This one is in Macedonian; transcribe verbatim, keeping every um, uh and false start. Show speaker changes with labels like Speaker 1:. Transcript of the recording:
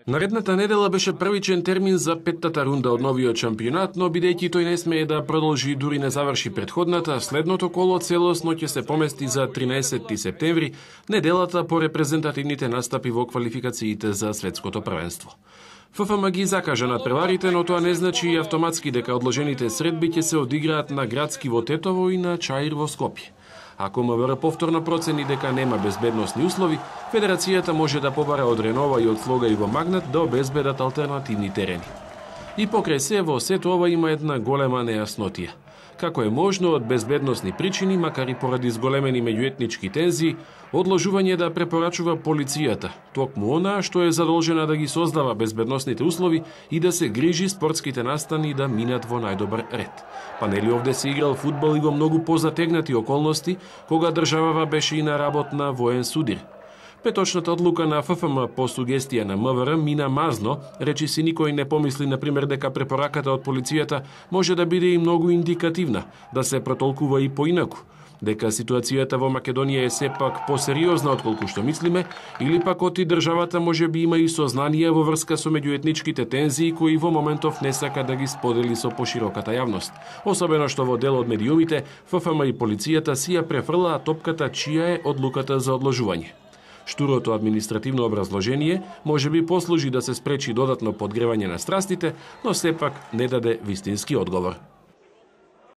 Speaker 1: Наредната недела беше првичен термин за петтата рунда од новиот шампионат, но бидејќи тој не смее да продолжи дури не заврши претходната, следното коло целосно ќе се помести за тринаесетти септември, неделата по репрезентативните настапи во квалификациите за светското првенство. ФФМ ги закажа надпреварите, но тоа не значи и автоматски дека одложените средби ќе се одиграат на Градски во Тетово и на Чаир во Скопје. Ако МВР повторно процени дека нема безбедносни услови, Федерацијата може да побара од Ренова и од Слога и во Магнат да обезбедат алтернативни терени. И покрај се, во сето ова има една голема нејаснотија. Како е можно од безбедносни причини, макар и поради зголемени меѓуетнички тензии, одложување да препорачува полицијата, токму она што е задолжена да ги создава безбедносните услови и да се грижи спортските настани да минат во најдобар ред. Па нели овде се играл фудбал и во многу позатегнати околности, кога државава беше и на работ на воен судир. Петочната одлука на ФФМ по сугестија на МВР мина мазно, речи си никој не помисли, например, дека препораката од полицијата може да биде и многу индикативна, да се протолкува и поинаку, дека ситуацијата во Македонија е сепак посериозна отколку што мислиме, или пак оти државата може би има и сознание во врска со меѓуетничките тензии кои во моментов не сака да ги сподели со пошироката јавност. Особено што во дел од медиумите, ФФМ и полицијата си ја префрлаа топката чија е одлуката за одложување. Штурото административно образложение може би послужи да се спречи додатно подгревање на страстите, но сепак не даде вистински одговор.